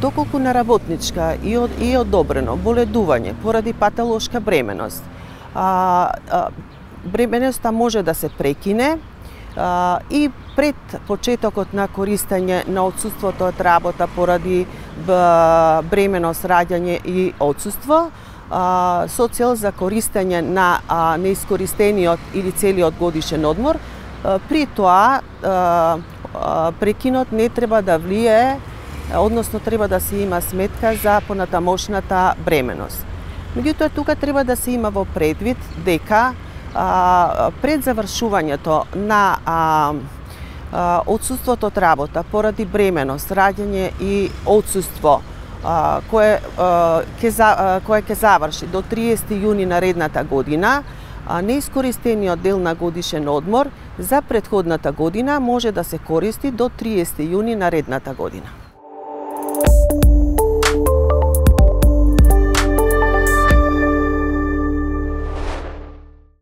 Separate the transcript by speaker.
Speaker 1: Доколку на работничка и одобрено боледување поради патолошка бременост, бременоста може да се прекине и пред почетокот на користење на отсуството од работа поради бременост, раѓање и отсуство, со цел за користење на неискористениот или целиот годишен одмор, при тоа прекинот не треба да влијае, односно треба да се има сметка за понатамошната бременост. Меѓутоа, тука треба да се има во предвид дека пред завршувањето на отсуството од работа поради бременост, раѓање и отсуство кое ќе заврши до 30 јуни наредната година, неискористениот дел на годишен одмор за претходната година може да се користи до 30 јуни наредната година.